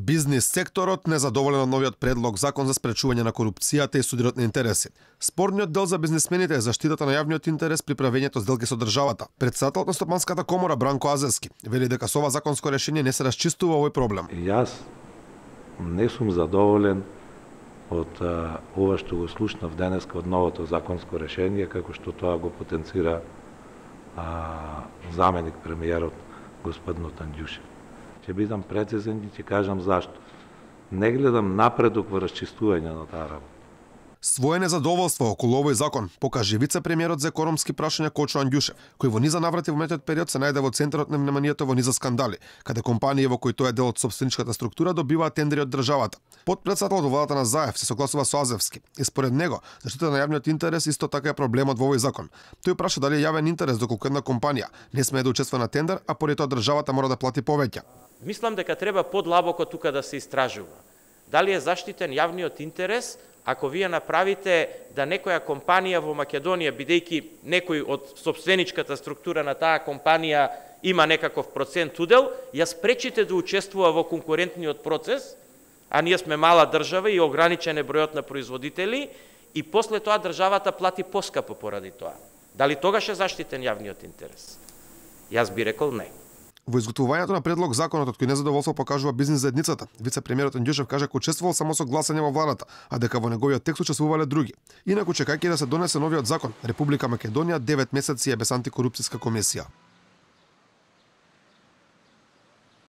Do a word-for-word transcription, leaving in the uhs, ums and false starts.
Бизнис секторот незадоволен од новиот предлог закон за спречување на корупцијата и судирот на интереси. Спорниот дел за бизнисмените е заштитата на јавниот интерес при правењето сделки со државата. Председателот на Стопанската комора Бранко Азевски вели дека со ова законско решение не се расчистува овој проблем. Јас не сум задоволен од а, ова што го слушнав денеска од новото законско решение, како што тоа го потенцира а, заменик премиерот господин Тандјушев. Ќе бидам прецизен и ќе кажам зашто. Не гледам напредок во расчистување на таа работа. Своје незадоволство околу овој закон покаже вице-премиерот за економски прашања Кочо Андјушев, кој во низа наврати во метод период се најде во центарот на вниманието во низа скандали, каде компании во кои тој е дел од собственичката структура добиваат тендери од државата. Потпредседателот во владата на Заев се согласува со Азевски и според него заштита на јавниот интерес исто така е проблемот во овој закон. Тој праша дали е јавен интерес доколку една компанија не смее да учествува на тендер, а поради тоа државата мора да плати повеќе. Мислам дека треба подлабоко тука да се истражува. Дали е заштитен јавниот интерес ако вие направите да некоја компанија во Македонија, бидејќи некој од собственичката структура на таа компанија има некаков процент удел, ја спречите да учествува во конкурентниот процес, а ние сме мала држава и ограничен е бројот на производители, и после тоа државата плати поскапо поради тоа. Дали тогаш е заштитен јавниот интерес? Јас би рекол не. Во изготвувањето на предлог законот од кој незадоволство покажува бизнис заедницата, вице-премиерот Андјушев кажа дека учествувал само со гласање во владата, а дека во неговиот текст учествувале други. Инаку чекајќи да се донесе новиот закон, Република Македонија девет месеци е без антикорупцијска комисија.